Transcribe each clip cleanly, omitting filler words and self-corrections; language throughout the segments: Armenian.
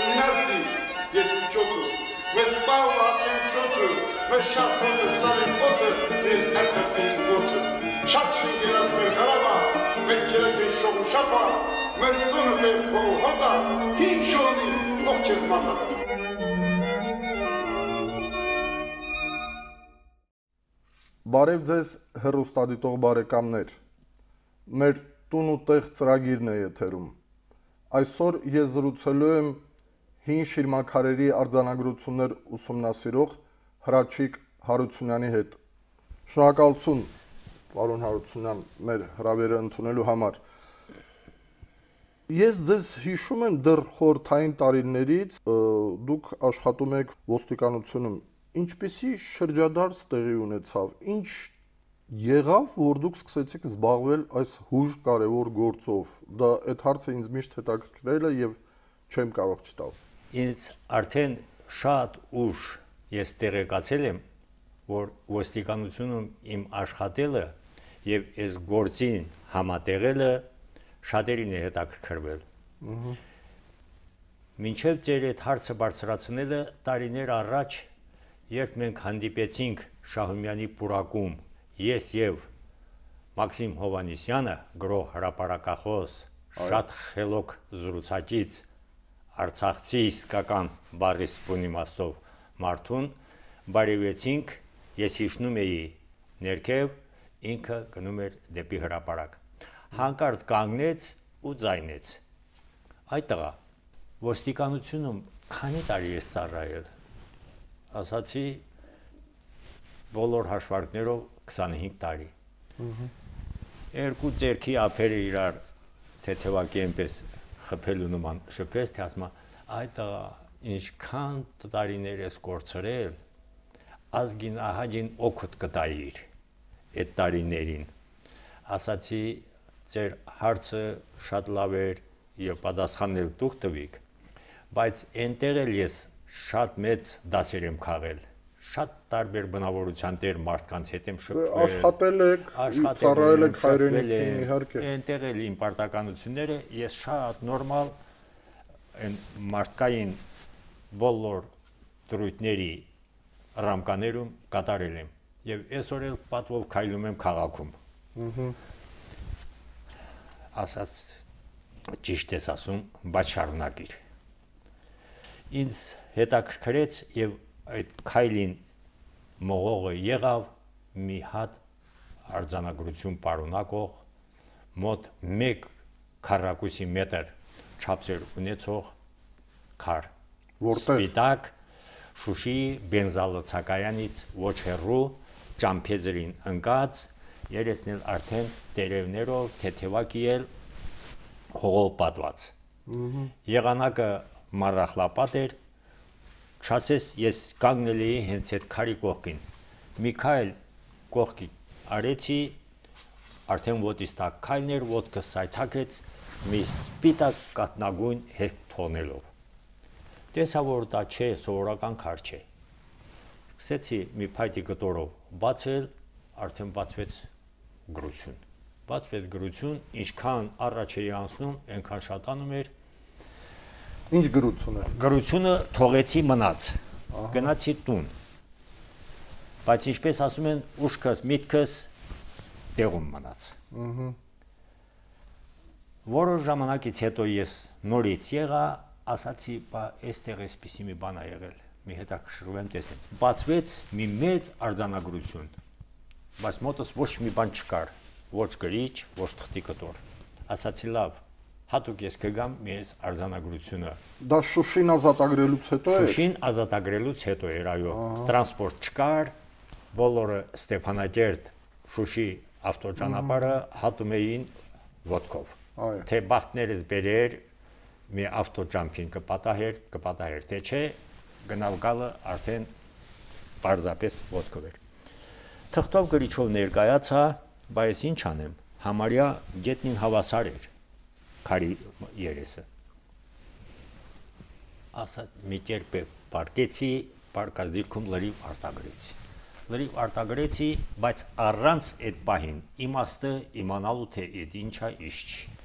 Terminarci jest ciotu. Mes pałacem ciotu. Mes szatnoty sali poty. Min ertepin poty. Szatszy nieraz mercharaba. Meccelete şovu şapa. Mertunete bohota. Hiç şoni nohçez mata. Բարև ձեզ հեռուստադիտող բարեկամներ, մեր տուն ու տեղ ծրագիրն է եթերում։ Այսօր ես զրուցելու եմ հին շիրմաքարերի արձանագրություններ ուսումնասիրող Հրաչիկ Հարությունյանի հետ։ Շնորհակալություն, պարոն Հարությունյան, մեր հրավերը ընդունելու համար։ Ես ձեզ հիշում եմ դեռ խորհրդային տարիներից դուք աշխատում եք ոստիկանությունում։ Ինչպիսի շրջադարձ տեղի ունեցավ, ինչ եղավ, որ դուք սկսեցիք զբաղվել այս հուժ կարևոր գործով, դա այդ հարցը ինձ միշտ հետաքրքրել է եւ չեմ կարող չտալ։ Ինձ արդեն շատ ուշ ես տեղեկացել եմ, որ ոստիկանությունում իմ աշխատելը եւ այս գործին համատեղելը շատերին է հետաքրքրվել։ Մինչև ձեր այդ հարցը բարձրացնելը տարիներ առաջ երբ մենք հանդիպեցինք Շահումյանի պուրակում, ես եւ Մաքսիմ Հովանեսյանը, գրող հրապարակախոս, շատ խելոք զրուցակից, արցախցի իսկական բառի սպուն իմաստով մարդուն, բարևեցինք, ես հիշնում էի ներքև, ինքը գնում էր դեպի հրապարակ։ Հանկարծ կանգնեց ու ձայնեց։ Այ տղա, ոստիկանությունում քանի տարի ես ծառայել։ Ասացի բոլոր հաշվարկներով 25 տարի։ Երկու ձեռքի ափերը իրար թեթևակի այնպես խփելու նման շփեց, թե ասում այ տղա, ինչքան տարիներ ես կորցրել, ազգին ահագին օգուտ կտայիր այդ տարիներին։ Ասացի ձեր հարցը շատ լավ էր եւ պատասխանել դուք տվիք, բայց այնտեղ էլ ես շատ մեծ դասեր եմ քաղել, շատ տարբեր բնավորության տեր մարդկանց հետ եմ շփվել, աշխատել եք, ծառայել եք հայրենիքին, իհարկե։ Այնտեղ էլ իմ պարտականությունները ես շատ նորմալ այն մարդկային բոլոր դրույթների ռամկաներում կատարել եմ եւ այսօր էլ պատվով քայլում եմ քաղաքում։ Ասած ճիշտ ես ասում, բայց շարունակիր։ Ինձ հետաքրքրեց եւ այդ քայլին մողողը եղավ մի հատ արձանագրություն պարունակող մոտ 1 քառակուսի մետր չափսեր ունեցող քար, սպիտակ Շուշի բենզալոցակայանից ոչ հեռու ճամփեզերին ընկած, երեսն էլ արդեն տերևներով թեթևակի էլ հողով պատված։ Եղանակը մառախլապատ էր, չասես ես կանգնել էի հենց այդ քարի կողքին։ Մի քայլ կողքի արեցի, արդեն ոտից տակ քայլն էր, ոտքս սայթաքեց մի սպիտակ կատնագույն հետ թողնելով։ Տեսա, որ դա չէ, սովորական քար չէ։ Սկսեցի մի փայտի կտորով բացել, արդեն բացվեց գրություն։ Բացվեց գրություն, ինչքան առաջ էի անցնում, այնքան շատանում էր։ Ինչ գրություն է։ Գրությունը թողեցի մնաց, գնացի տուն, բայց ինչպես ասում են, ուշքս, միտքս տեղում մնաց։ Որոշ ժամանակից հետո ես նորից եղա, ասացի, բա այստեղ էսպիսի մի բան ա եղել, մի հետաքրքրում տեսնել։ Բացվեց մի մեծ արձանագրություն, բայց մոտս ոչ մի բան չկար, ոչ գրիչ, ոչ թղթի կտոր։ Ասացի լավ, հատուկ ես կգամ մի այս արձանագրությունը։ Դա Շուշին ազատագրելուց հետո է։ Շուշին ազատագրելուց հետո էր, այո, տրանսպորտ չկար, բոլորը Ստեփանակերտ Շուշի ավտոճանապարհը հատում էին ոտքով։ Թե բախտներս բերեր մի ավտոճամփին կպատահեր, թե չէ, գնալ գալը արդեն պարզապես ոտքով էր։ Թղթով գրիչով ներկայացա, բայց ինչ անեմ, համարյա գետնին հավասար էր քարի երեսը։ Ասա մի կերպ պարկեցի, պարկած դիրքում լրիվ արտագրեցի, բայց առանց այդ պահին իմաստը իմանալու թե այդ ինչա, ինչ չի։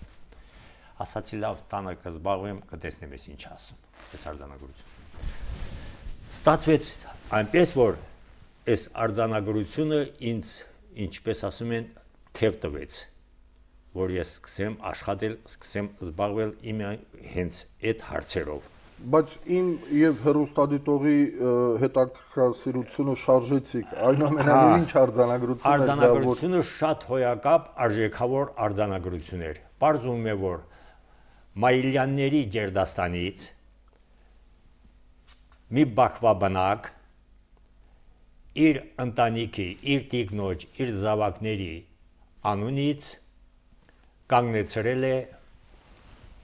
Ասացի լավ, տանը կզբաղվեմ, կտեսնեմ ես ինչ ասում։ այս արձանագրությունը։ Ստացվեց այնպես, որ այս արձանագրությունը ինձ, ինչպես ասում են, թև տվեց, որ ես սկսեմ աշխատել, սկսեմ զբաղվել իմ հենց այդ հարցերով։ Բայց իմ եւ հերոստադիտողի հետաքրքրասիրությունը շարժեցիք, այնուամենայնիվ ինչ արձանագրություն էր դա, որ արձանագրությունը շատ հոյակապ արժեքավոր արձանագրություն էր։ Պարզվում է, որ Մայիլյանների Գերդաստանից մի բախվաբնակ իր ընտանիքի, իր տիկնոջ, իր զավակների անունից կանգնեցրել է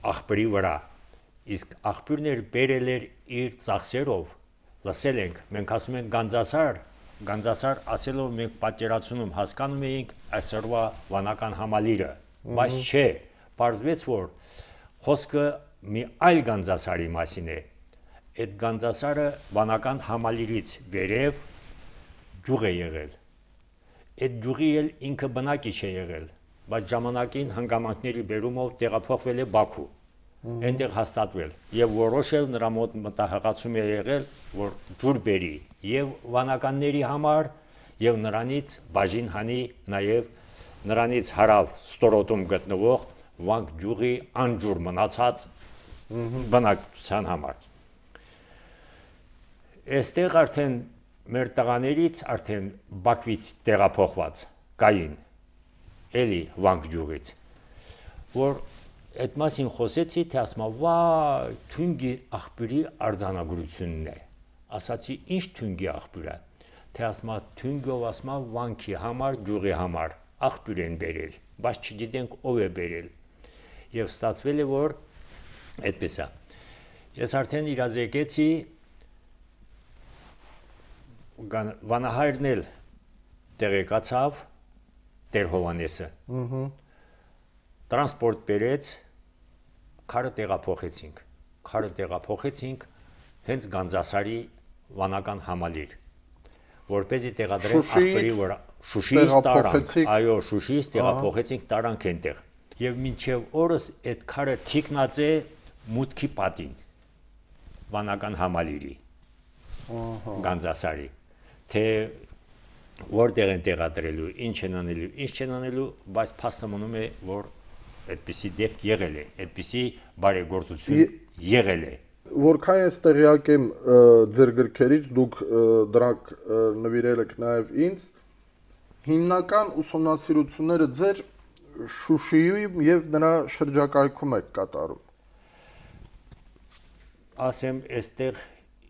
աղբերի վրա, իսկ աղբյուրն էր բերել էր իր ծախսերով, լսել ենք, մենք ասում ենք Գանձասար ասելով մենք պատկերացնում հասկանում էինք այսօրվա վանական համալիրը, բայց չէ, պարզվեց, որ խոսքը մի այլ Գանձասարի մասին է, այդ Գանձասարը վանական համալիրից վերև ջուղ է եղել, այդ ջուղի էլ ինքը բնակիչ է եղել, բայց ժամանակին հանգամանքների բերումով տեղափոխվել է Բաքու, այնտեղ հաստատվել եւ որոշել նրա մոտ մտահղացում է եղել, որ ջուր բերի եւ վանականների համար եւ նրանից բաժին հանի նաեւ նրանից հարավ ստորոտում գտնվող Վանք ջուղի անջուր մնացած բնակչության համար։ Այստեղ արդեն մեր տղաներից արդեն Բաքվից տեղափոխված կային էլի Վանք ջուղից, որ այդ մասին խոսեցի, թե ասма վայ, թունգի աղբյուրի արձանագրությունն է, ասացի ինչ թունգի աղբյուր է, թե ասма թունգով ասма վանքի համար, ջուղի համար աղբյուր են բերել, բայց չգիտենք ով է բերել, եւ ստացվել է, որ այդպես է, ես արդեն իրազեկեցի, վանահայրն էլ տեղեկացավ Տեր Հովանեսը, տրանսպորտ բերեց, քարը տեղափոխեցինք հենց Գանձասարի վանական համալիր, որպեսզի տեղադրենք աղբերի վրա, Շուշիից տարանք, այո, Շուշիից տեղափոխեցինք տարանք այնտեղ, եւ մինչեւ օրս այդ քարը թիկնած է մուտքի պատին, վանական համալիրի, Գանձասարի, թե որտեղ են տեղադրելու, ինչ են անելու, բայց փաստը մնում է, որ այդպիսի դեպք եղել է, այդպիսի բարեգործություն եղել է։ Որքան ես տեղյակ եմ ձեր գրքերից, դուք դրանք նվիրել եք նաև ինձ, հիմնական ուսումնասիրությունները ձեր Շուշիում եւ նրա շրջակայքում եք կատարում։ Ասեմ, այստեղ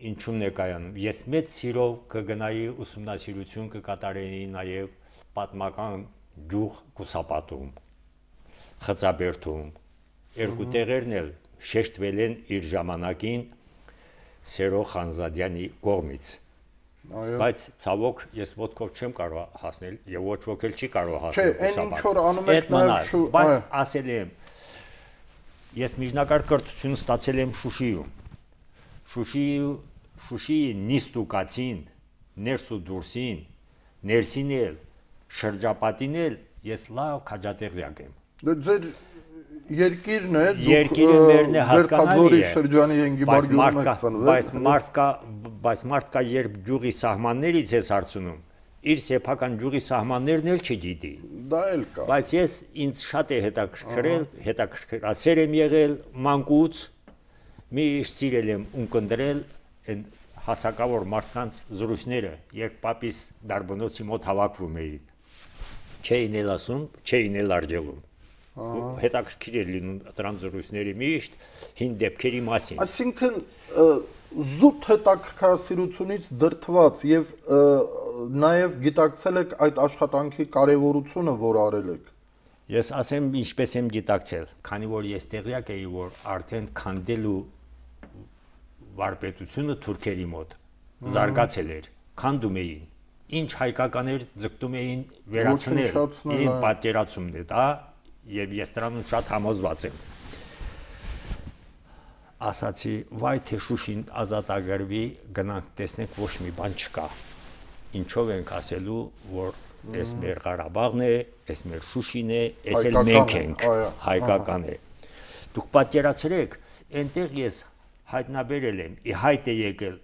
ինչու՞մն է կայանում։ Ես մեծ սիրով կգնայի ուսումնասիրություն կկատարեի նաև պատմական ջուղ Կուսապատում, Խծաբերդում, երկու տեղերն էլ շեշտվել են իր ժամանակին Սերո Խանզադյանի կողմից։ Բայց ցավոք ես ոտքով չեմ կարող հասնել եւ ոչ ոք էլ չի կարող հասնել Կուսապատ։ Բայց ասել եմ, ես միջնակարգ կրթություն ստացել եմ Շուշիում։ Շուշիի նիստուկացին, ներս ու դուրսին, ներսին էլ, շրջապատին էլ ես լավ քաջատեղյակ եմ։ Ձեր երկիրն է, երկիրը մերն է հասկանալի է, շրջանի ենգիբար գյուղում եք ծնվել, բայց մարդկա երբ ջուղի սահմաններից ես հարցնում, իր սեփական ջուղի սահմաններն էլ չգիտի։ Դա էլ կա։ Բայց ես ինձ շատ է հետաքրքրել, հետաքրքրասեր եմ եղել մանկուց, միշտ սիրել եմ ունկնդրել այն հասակավոր մարդկանց զրույցները, երբ պապիս դարբնոցի մոտ հավաքվում էին, չէին էլ ասում, չէին էլ արգելում, հետաքրքիր էր լինում դրանց զրույցների միշտ հին դեպքերի մասին։ Այսինքն զուտ հետաքրքրասիրությունից դրդված եւ նաեւ գիտակցել եք այդ աշխատանքի կարեւորությունը, որ արել եք։ Ես ասեմ ինչպես եմ գիտակցել, քանի որ ես տեղյակ էի, որ արդեն քանդելու վարպետությունը թուրքերի մոտ զարգացել էր, քանդում էին, ինչ հայկականներ ձգտում էին վերացնել, իմ պատկերացումն է դա, եւ ես դրանում շատ համոզված եմ։ Ասացի, վայ թե Շուշին ազատագրվի, գնանք տեսնենք ոչ մի բան չկա։ Ինչով ենք ասելու, որ այս մեր Ղարաբաղն է, այս մեր Շուշին է, այս էլ մենք ենք, հայկական է։ Դուք պատկերացրեք, այնտեղ ես հայտնաբերել եմ, հայտ է եկել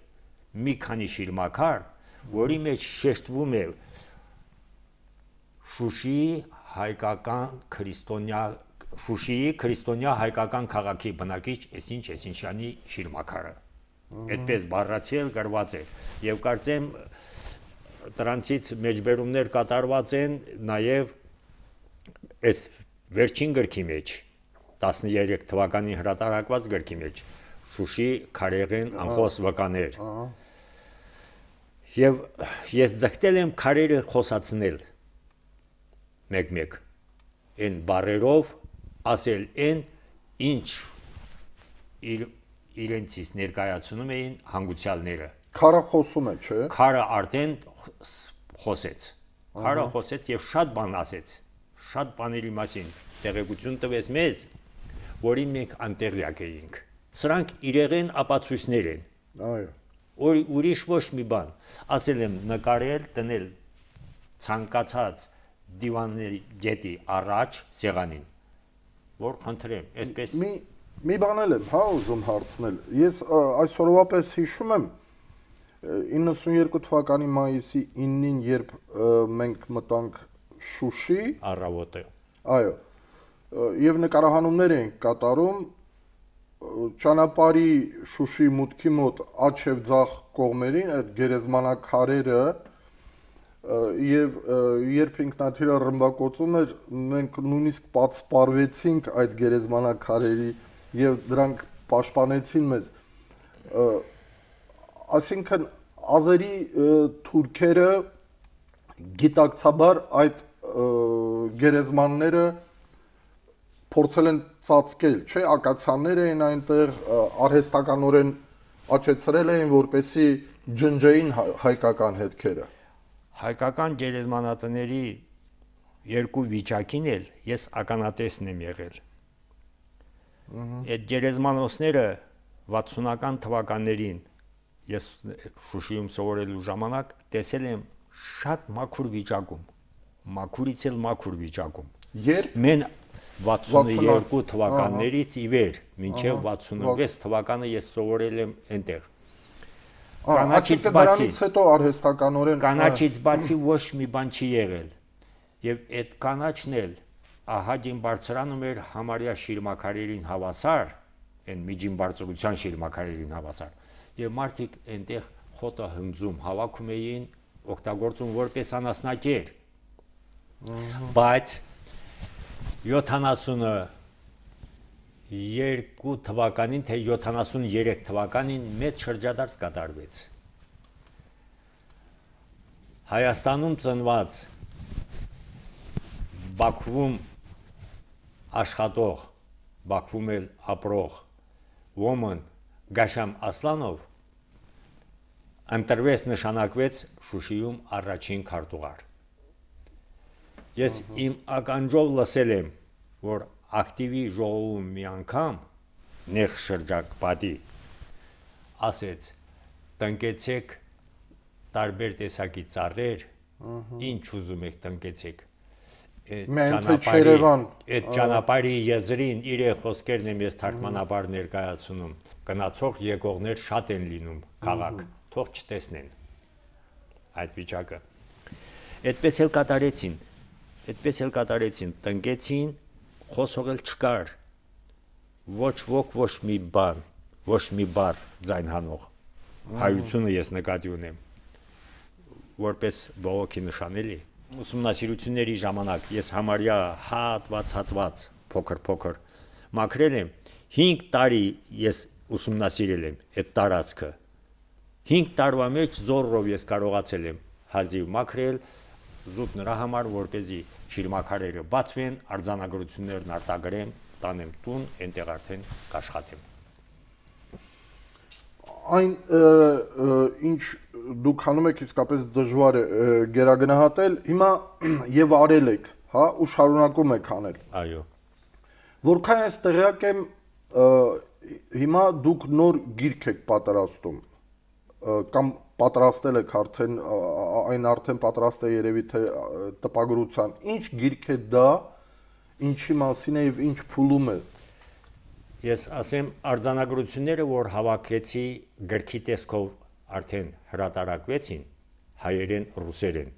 մի քանի շիրմաքար, որի մեջ շեշտվում է Շուշիի քրիստոնյա հայկական քաղաքի բնակիչ Էսինչյանի շիրմաքարը։ Այդպես բառացիել գրված է եւ կարծեմ դրանցից մեջբերումներ կատարված են նաեւ այս վերջին գրքի մեջ 13 թվականին հրատարակված գրքի մեջ Շուշի քարեղեն անխոս վկաներ։ Եվ ես ձգտել եմ քարերը խոսացնել մեկ-մեկ այն բառերով ասել այն ինչ իրենցից ներկայացնում էին հանգուցյալները։ Քարը խոսում է, չէ՞։ Քարը արդեն խոսեց։ Քարը խոսեց եւ շատ բան ասեց։ Շատ բաների մասին տեղեկություն տվեց մեզ, որի մենք անտեղյակ էինք։ Սրանք իրեղեն ապացույցներ են։ Այո։ Ուրիշ ոչ մի բան։ Ասել եմ նկարել, դնել ցանկացած դիվանների գետի առաջ սեղանին, որ խնդրեմ, այսպես մի բան եմ, հա, ուզում հարցնել։ Ես այսօրվա պես հիշում եմ 92 թվականի մայիսի 9-ին, երբ մենք մտանք Շուշի առավոտը։ Այո։ Եվ նկարահանումներ էինք կատարում ճանապարհի Շուշի մուտքի մոտ աջ եւ ձախ կողմերին այդ գերեզմանակարերը եւ երբ ինքնաթիռը ռմբակոծում էր, մենք նույնիսկ պատսպարվեցինք այդ գերեզմանակարերի եւ դրանք պաշտպանեցին մեզ։ Այսինքն ազերի թուրքերը գիտակցաբար այդ գերեզմանները փորձել են ծածկել, չէ՞, ակացիաներ էին այնտեղ, արհեստականորեն աճեցրել էին, որպեսզի ջնջեին հայկական հետքերը։ Հայկական գերեզմանատների երկու վիճակին էլ ես ականատեսն եմ եղել։ Այդ գերեզմանոցները 60-ական թվականներին ես Շուշիում սովորելու ժամանակ տեսել եմ շատ մաքուր վիճակում, մաքուրից էլ մաքուր վիճակում։ Երբ մեն 62 թվականներից ի վեր մինչև 66 թվականը ես սովորել եմ այնտեղ։ Կանաչից բացի հետո արհեստականորեն կանաչից բացի ոչ մի բան չի եղել։ Եվ այդ կանաչն էլ ահագին բարձրանում էր համարյա շիրմաքարերին հավասար, այն միջին բարձրության շիրմաքարերին հավասար։ Եվ մարդիկ այնտեղ խոտը հնձում, հավաքում էին, օգտագործում որպես անասնակեր։ Բայց 72 թվականին, թե 73 թվականին մեծ շրջադարձ կատարվեց։ Հայաստանում ծնված Բաքվում աշխատող, Բաքվում էլ ապրող ոմն Գաշամ Ասլանով ընտրվեց, նշանակվեց Շուշիում առաջին քարտուղար։ Ես իմ ականջով լսել եմ, որ ակտիվի ժողովում մի անգամ նեղ շրջակապատի ասեց տնկեցեք տարբեր տեսակի ծառեր, ինչ ուզում եք տնկեցեք։ Այդ ճանապարհի եզրին իրեն խոսքերն եմ ես թարգմանաբար ներկայացնում, գնացող եկողներ շատ են լինում քաղաք, թող չտեսնեն այդ վիճակը։ Այդպես էլ կատարեցին, տնկեցին, խոսող էլ չկար, ոչ ոք, ոչ մի բան, ոչ մի բառ ձայն հանող, հայությունը ես նկատի ունեմ, որպես բողոքի նշանելի, ուսումնասիրությունների ժամանակ ես համարյա հատված, փոքր մաքրել եմ, 5 տարի ես ուսումնասիրել եմ այդ տարածքը, 5 տարվա մեջ զորով ես կարողացել եմ հազիվ մաքրել, զուտ նրա համար, որպեսզի շիրմաքարերը բացվեն, արձանագրություններն արտագրեմ, տանեմ տուն, այնտեղ արդեն կաշխատեմ։ Այն ինչ դուք անում եք իսկապես դժվար է գերագնահատել, հիմա եւ արել եք, հա, ու շարունակում եք անել։ Այո։ Որքան ես տեղյակ եմ, հիմա դուք նոր գիրք եք պատրաստում, կամ պատրաստել եք արդեն, այն արդեն պատրաստ է երևի թե տպագրության։ Ինչ գիրք է դա, ինչի մասին է եւ ինչ փուլում է։ Ես ասեմ արձանագրությունները, որ հավաքեցի գրքի տեսքով արդեն հրատարակվեցին հայերեն, ռուսերեն։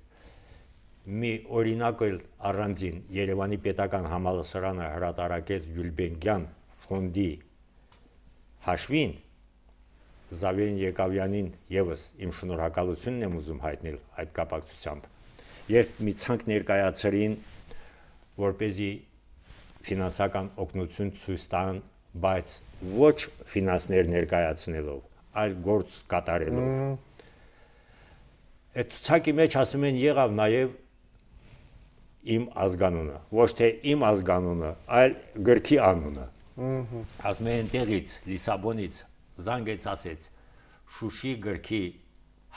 Մի օրինակ էլ առանձին Երևանի պետական համալսարանը հրատարակեց Գյուլբենկյան ֆոնդի հաշվին Զավեն Եկավյանին եւս իմ շնորհակալությունն եմ ուզում հայտնել այդ կապակցությամբ։ Երբ մի ցանկ ներկայացրին, որպեսզի ֆինանսական օգնություն ցույց տան, բայց ոչ ֆինանսներ ներկայացնելով, այլ գործ կատարելով։ Այդ ցանկի մեջ ասում են եղավ նաև իմ ազգանունը, ոչ թե իմ ազգանունը, այլ գրքի անունը։ Ասում են տեղից Լիսաբոնից զանգեց ասեց Շուշի գրքի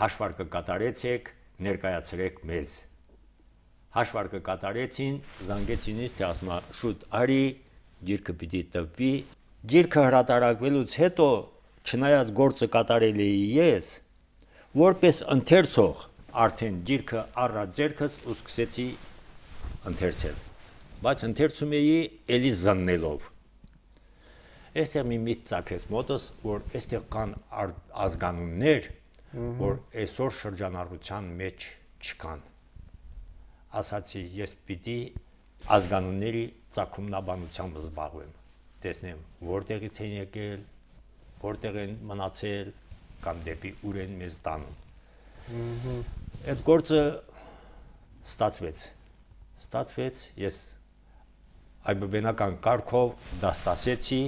հաշվարկը կատարեցեք, ներկայացրեք մեզ։ Հաշվարկը կատարեցին, զանգեցին ինձ, թե ասում շուտ արի, գիրքը պիտի տպվի։ Գիրքը հրատարակվելուց հետո, չնայած գործը կատարել էի ես, որպես ընթերցող արդեն գիրքը առա ձեռքս ու սկսեցի ընթերցել։ Բայց ընթերցում էի էլի զննելով։ Այստեղ մի միտք ծագեց մոտս, որ այստեղ կան ազգանուններ, որ այսօր շրջանառության մեջ չկան։ Ասացի, ես պիտի ազգանունների ծագումնաբանությամբ զբաղվեմ, տեսնեմ որտեղից են եկել, որտեղ են մնացել, կամ դեպի ուր են մեզ տանում։ Այդ գործը ստացվեց, ես այբբենական կարգով դաստասեցի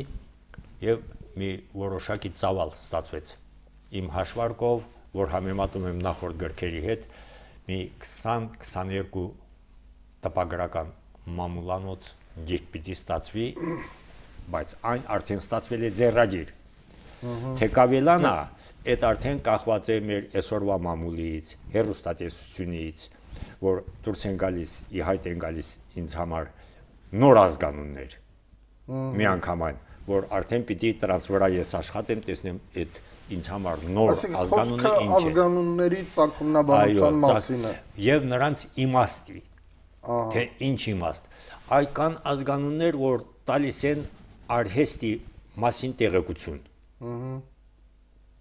եւ մի որոշակի ծավալ ստացվեց իմ հաշվարկով, որ համեմատում եմ նախորդ գրքերի հետ, մի 20-22 տպագրական մամուլանոց գիրք պիտի ստացվի, բայց այն արդեն ստացվել է ձեռագիր։ Թե կավելանա, այդ արդեն կախված է մեր այսօրվա մամուլից, հեռուստատեսությունից, որ դուրս են գալիս, ի հայտ են գալիս ինձ համար նոր ազգանուններ, միանգամայն, որ արդեն պիտի դրանց վրա ես աշխատեմ, տեսնեմ այդ ինձ համար նոր ազգանունը ինչ է։ Ազգանունների ծագումնաբանության մասին է։ Եվ նրանց իմաստի, թե ինչ իմաստ։ Այ կան ազգանուններ, որ տալիս են արհեստի մասին տեղեկություն։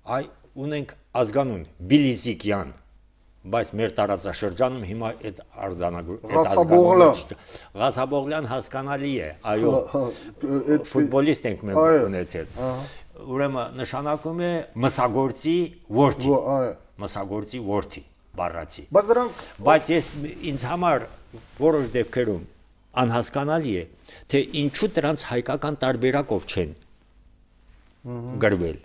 Այ ունենք ազգանուն Բիլիզիկյան, բայց մեր տարածաշրջանում հիմա այդ ազգանունը Ղազաբողլյան հասկանալի է, այո, ֆուտբոլիստ ենք մենք ունեցել։ Ուրեմն նշանակում է մսագործի որդի, բառացի։ Բայց ինձ համար որոշ դեպքերում անհասկանալի է, թե ինչու դրանց հայկական տարբերակով չեն գրվել։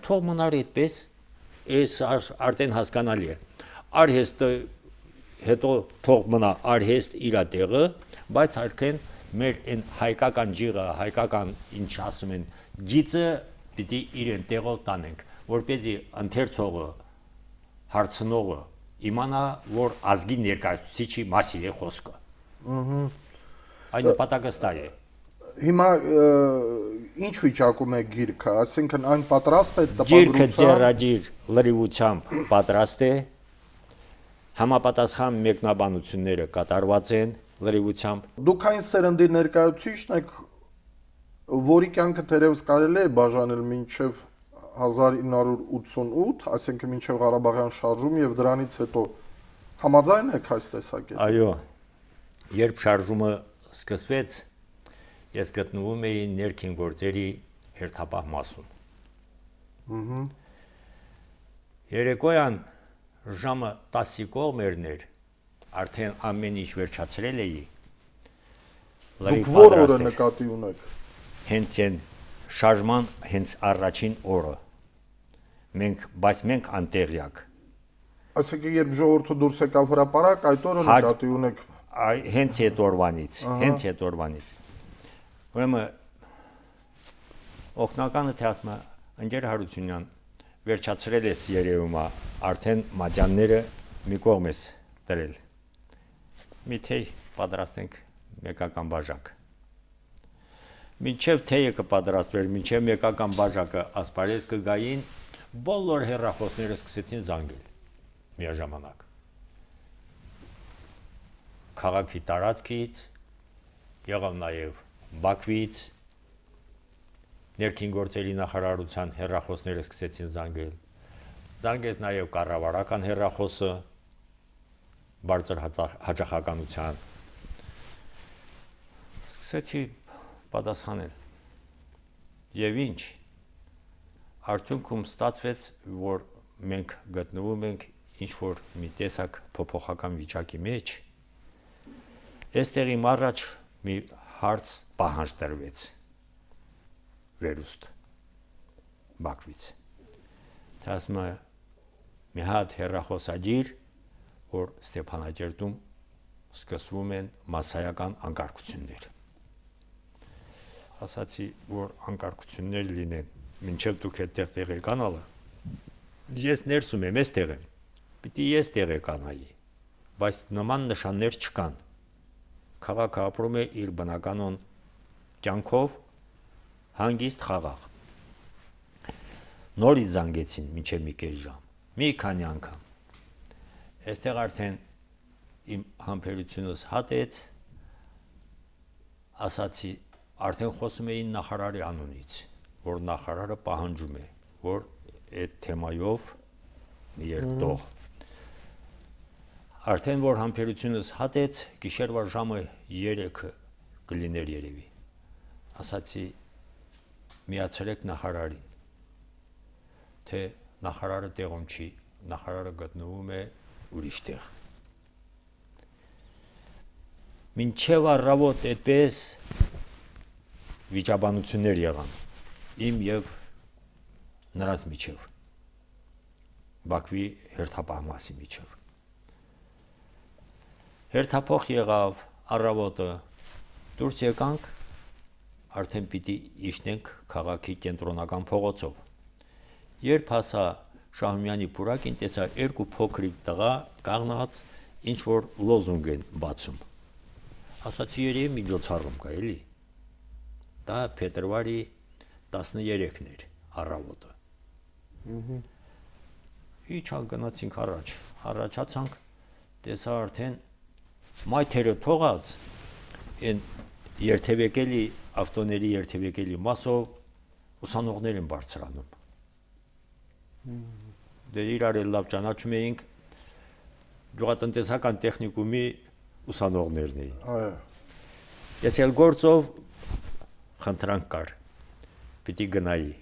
Թող մնար այդպես, այս արդեն հասկանալի է։ Արհեստը հետո թող մնա արհեստ իր տեղը, բայց արդեն մեր այն հայկական ջիղը, հայկական ինչ ասում են, գիծը պիտի իրեն տեղով տանենք, որպեսզի ընթերցողը, հարցնողը իմանա, որ ազգի ներկայացուցիչի մասին է խոսքը։ Այն նպատակը ստա է։ Հիմա ինչ վիճակում է գիրքը, այսինքն այն պատրաստ է Գիրքը ձեռագիր լրիվությամբ պատրաստ է, համապատասխան մեկնաբանությունները կատարված են լրիվությամբ։ Դուք այն սերնդի ներկայացուցիչն եք, որի կյանքը թերևս կարելի է բաժանել մինչև 1988, այսինքն մինչև Ղարաբաղյան շարժում եւ դրանից հետո համաձայն եք այս տեսակետին։ Այո, երբ շարժումը սկսվեց, ես գտնվում էի ներքին գործերի հերթապահ մասում։ Երեկոյան ժամը 10-ի կողմերներ, արդեն ամեն ինչ վերջացրել էի։ Դուք որ օրը նկատի ունեք։ Հենց այն շարժման հենց առաջին օրը։ Բայց մենք անտեղյակ։ Այսինքն երբ ժողովուրդը դուրս եկավ հրապարակ, այդ օրը նկատի ունեք։ Հենց այդ օրվանից։ Ուրեմն օգնականը թե ասում է ընկեր Հարությունյան վերջացրել ես երևում է արդեն մատյանները մի կողմ ես դրել։ Մի թեյ պատրաստենք մեկական բաժակ։ Մինչև թեյը կպատրաստվեր, մինչև մեկական բաժակը ասպարեզ կգային, բոլոր հեռախոսները սկսեցին զանգել միաժամանակ։ Քաղաքի տարածքից, եղավ նաև Բաքվից, ներքին գործերի նախարարության հեռախոսները սկսեցին զանգել։ Զանգեց նաև կառավարական հեռախոսը բարձր հաճախականության։ Սկսեցի պատասխանել։ Եվ ինչ, արդյունքում ստացվեց, որ մենք գտնվում ենք ինչ-որ մի տեսակ փոփոխական վիճակի մեջ, այստեղի առաջ մի հարց պահանջ տրվեց վերուստ Բաքվից։ Ասում է մի հատ հեռախոսագիր, որ Ստեփանագերտում սկսվում են մասսայական անկարգություններ։ Ասացի, որ անկարգություններ լինեն, մինչև դուք այդտեղ տեղեկանալը, ես ներսում եմ, այստեղ եմ, պիտի ես տեղեկանայի, բայց նման նշաններ չկան։ Քաղաքը ապրում է իր բնականon կյանքով, հանգիստ խաղաղ։ Նորից զանգեցին մինչև մի կես ժամ, մի քանի անգամ։ Այստեղ արդեն իմ համբերությունս հատեց, ասացի, արդեն խոսում էին նախարարի անունից, որ նախարարը պահանջում է, որ այդ թեմայով մի երկտող։ Արդեն որ համբերությունս հատեց, գիշերվա ժամը 3-ը կլիներ երևի։ Ասացի, միացրեք նախարարին, թե նախարարը տեղում չի, նախարարը գտնվում է ուրիշ տեղ։ Մինչև առավոտ այդպես վիճաբանություններ եղան իմ եւ նրանց միջև, Բաքվի հերթապահմասի միջև։ Հերթափոխ եղավ առավոտը, դուրս եկանք, արդեն պիտի իջնենք քաղաքի կենտրոնական փողոցով։ Երբ հասա Շահումյանի պուրակին, տեսա երկու փոքրիկ տղա կանգնած ինչ որ լոզունգ են բացում։ Ասացի, երևի միջոցառում կա, էլի։ Դա փետրվարի 13-ն էր առավոտը։ Իջանք գնացինք առաջացանք, տեսա արդեն մայթերը թողած այն երթևեկելի ավտոների երթևեկելի մասով ուսանողներ են բարձրանում։ Դե իրար էլ լավ ճանաչում էինք գյուղատնտեսական տեխնիկումի ուսանողներն էին։ Այո։ Ես էլ գործով խնդրանք կար, պիտի գնայի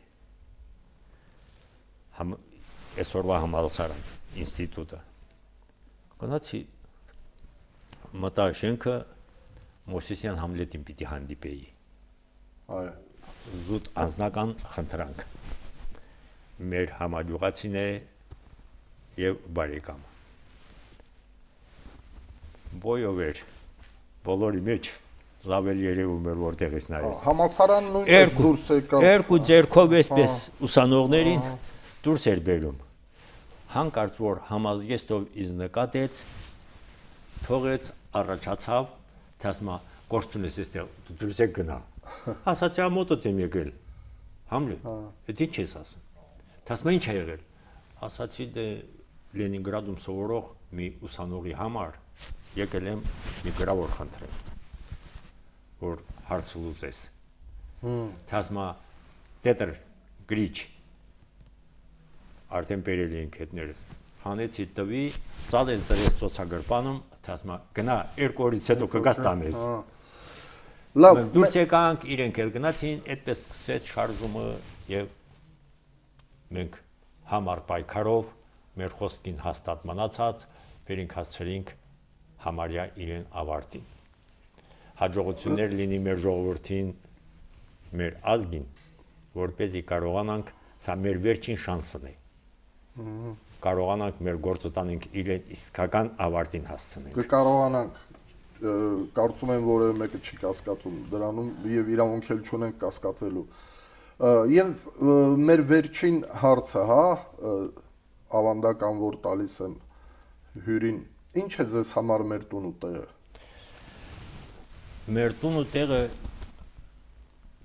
այսօրվա համալսարան, ինստիտուտը։ Գնացի, մտա շենքը, Մովսեսյան Համլետին պիտի հանդիպեի։ Այո։ Զուտ անձնական խնդրանք։ Մեր համագյուղացին է եւ բարեկամ։ Բոյով էր, բոլորի մեջ լավ էլ երևում էր որտեղից նայես։ Համալսարան նույնպես դուրս եկավ։ Երկու ձեռքով էսպես ուսանողներին դուրս էր բերում։ Հանկարծ որ համազգեստով ինձ նկատեց, թողեց, առաջացավ, թե ասում է, գործ ունես այստեղ, դու դուրս եք գնա։ Ասացի, մոտդ եմ եկել։ Համլետ, այդ ինչ ես ասում։ Թե ասում է, ինչ է եղել։ Ասացի, դե Լենինգրադում սովորող մի ուսանողի համար եկել եմ մի գրավոր խնդրել, որ հարցը լուծես։ Թե ասում է, տետր, գրիչ, արդեն բերել էինք հետներս, հանեցի տվի, ծալեց դրեց ծոցագրպանում, թե ասում է, գնա, 2 օրից հետո կգաս տանես։ Լավ, դուրս եկանք, իրենք էլ գնացին, այդպես սկսեց շարժումը եւ մենք համառ պայքարով մեր խոսքին հաստատ մնացած, վերինք հասցրինք համարյա իրեն ավարտին։ Հաջողություններ լինի մեր ժողովրդին, մեր ազգին, որպեսզի կարողանանք, սա մեր վերջին շանսն է։ Կարողանանք մեր գործը տանենք իրեն իսկական ավարտին հասցնենք։ Կկարողանանք, կարծում եմ որևէ մեկը չի կասկածում դրանում եւ իրավունք էլ չունենք կասկածելու։ Եվ մեր վերջին հարցը, հա, ավանդական որ տալիս եմ հյուրին, ինչ է ձեզ համար մեր տուն ու տեղը։ Մեր տուն ու տեղը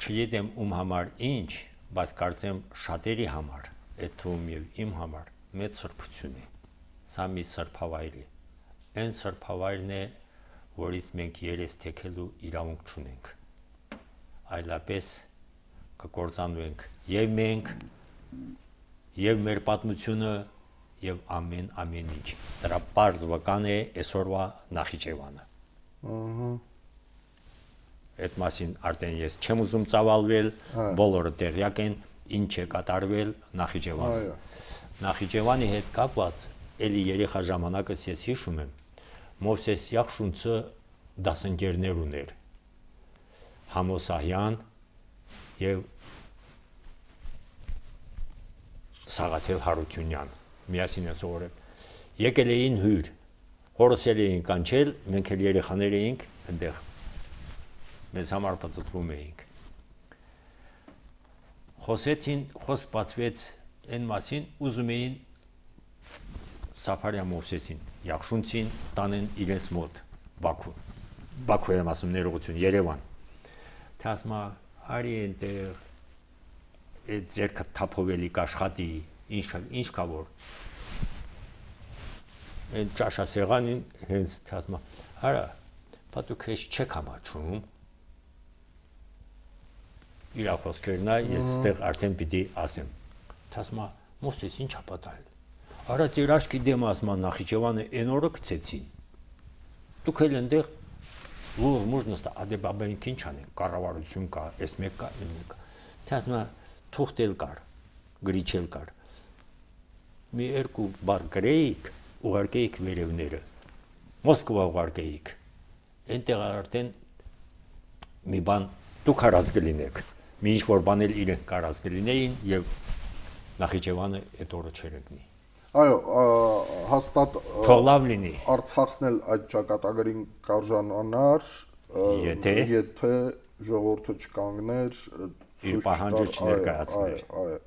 չգիտեմ ում համար ինչ, բայց կարծեմ շատերի համար, այդ թվում եւ իմ համար մեծ սրբություն է։ Սա մի սրբավայր է։ Այն սրբավայրն է, որից մենք երես թեքելու իրավունք չունենք։ Այլապես կկործանվենք եւ մենք եւ մեր պատմությունը եւ ամեն ինչ։ Դրա բարձ վկան է այսօրվա Նախիջևանը։ Այդ մասին արդեն ես չեմ ուզում ծավալվել, բոլորը տեղյակ են ինչ է կատարվել Նախիջևանում։ Նախիջևանի հետ կապված էլի երեխա ժամանակս ես հիշում եմ, Մովսես Յախշունցը դասընկերներ ուներ, Համոսահյան եւ Սաղաթել Հարությունյան, միասին են սովորել։ Եկել էին հյուր, հորս էին կանչել, մենք էլ երեխաներ էինք այնտեղ, մեզ համար պատտվում էինք։ Խոսեցին, խոսք բացվեց այն մասին, ուզում էին Սափարյա Մովսեսին, Յախշունցին տանեն իրենց մոտ Բաքու եմ ասում ներողություն, Երևան։ Թե ասում արի այնտեղ այդ ձերքը թափովելի կաշխատի, ինչ կա որ այն ճաշասեղանին հենց թե ասում արա, պատուք հեչ չեք համաչում իր խոսքերն է, ես ստեղ արդեն պիտի ասեմ։ Թե ասում Մովսես ինչ ա պատահել։ Արա ձեր աչքի դեմը ասում Նախիջևանը այն օրը գցեցին։ Դուք էլ այնտեղ լուր մուր նստա, ադեբաբենք ինչ անեն, կառավարություն կա, այս մեկ կա, այն մեկ կա։ Թե ասում թուղթ էլ կար, գրիչ էլ կար։ Մի երկու բառ գրեիք, ուղարկեիք վերևները, Մոսկվա ուղարկեիք։ Այնտեղ արդեն մի բան դուք հարած կլինեք, մի ինչ-որ բան էլ իրենք կարած կլինեին եւ Նախիջևանը այդ օրը չեր ընկնի։ Այո, հաստատ թող լավ լինի։ Արցախն էլ այդ ճակատագրին կարժանանար, եթե ժողովուրդը չկանգներ, իր պահանջը չներկայացներ։ Այո։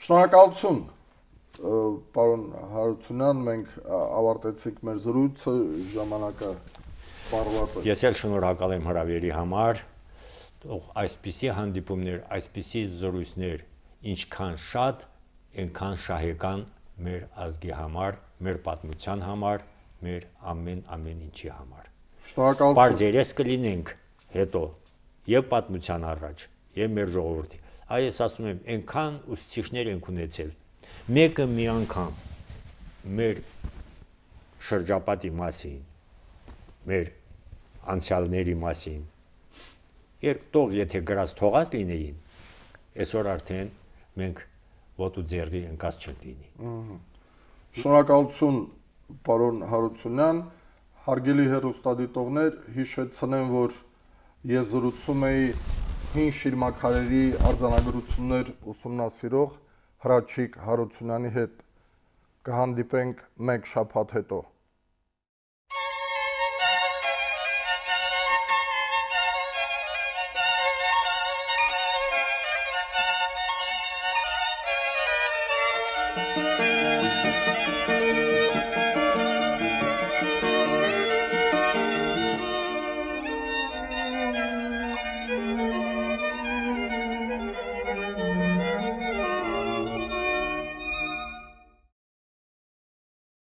Շնորհակալություն, պարոն Հարությունյան, մենք ավարտեցինք մեր զրույցը, ժամանակը սպառված է։ Ես էլ շնորհակալ եմ հրավերի համար, թող այսպիսի հանդիպումներ, այսպիսի զրույցներ ինչքան շատ, այնքան շահեկան մեր ազգի համար, մեր պատմության համար, մեր ամեն ինչի համար։ Շնորհակալություն։ Պարզ երես կլինենք հետո եւ պատմության առաջ, եւ մեր ժողովրդի։ Այս ասում եմ, այնքան ուսուցիչներ ենք ունեցել։ Մեկը մի անգամ մեր շրջապատի մասին, մեր անցյալների մասին, երկտող եթե գրած թողած լինեին, այսօր արդեն մենք ոտու ձեռի ընկած չլինի։ Շնորհակալություն, պարոն Հարությունյան, հարգելի հեռուստադիտողներ, հիշեցնեմ, որ ես զրուցում էի հին շիրմաքարերի արձանագրություններ ուսումնասիրող Հրաչիկ Հարությունյանի հետ։ Կհանդիպենք մեկ շաբաթ հետո։